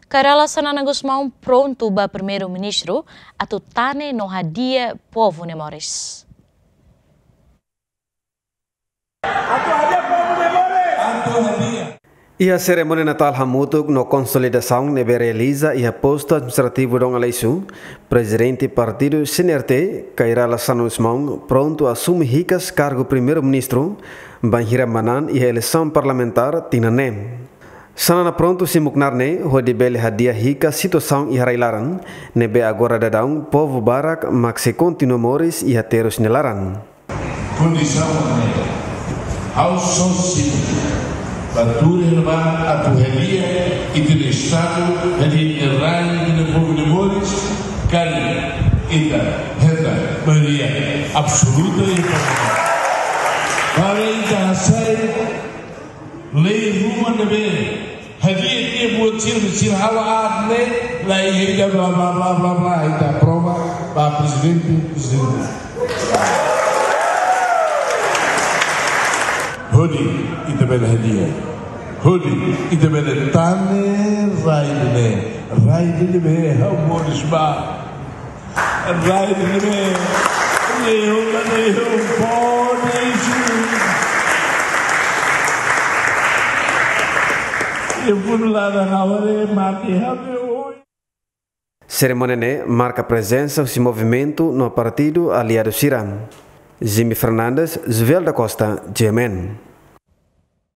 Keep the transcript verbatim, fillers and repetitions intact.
Kay Rala Xanana Gusmão prontu ba Primeiru-Ministru atu tane no hadi'a povu nia moris. Iha serimónia Natál hamutuk no konsolidasaun ne'ebé realiza iha postu administrativu Dom Aleixo, Prezidente Partidu C N R T, Kay Rala Xanana Gusmão, prontu asume hikas kargu Primeiru-Ministru, bainhira manán iha eleisaun parlamentár tinan ne'e. Xanana prontu simu knaar ne'e hodi bele hadi'a hikas situasaun iha rai-laran, ne'ebé agora daudaun povu barak mak sei kontinua moris iha terus nia laran. Kondisaun ne'e, ha'u só simu ba tuur iha ne'ebá atu hadi'a ita-nia Estadu, hadi'a ita-nia rai, ita-nia povu nia moris, karik ita hetan maioria absoluta iha Parlamentu. Para ita hasai lei ruma ne'ebé hadi'a tiha buat sira, sira halo aat ne'e, la iha ida bla, bla, bla, bla, bla, ita aprova ba Prezidente, Prezidente. Hodi ita bele hadi'a. Hodi ita bele tane rai ida-ne'e. Rai ida-ne'ebé ha'u moris ba. Rai ida-ne'ebé, lehon, lehon, pode isu. E pun la da ngawale mati habe oi. Serimónia ne'e marka prezensa husi movimentu no partidu aliadu sira. Jimmy Fernandes, Jovel da Costa, G M N.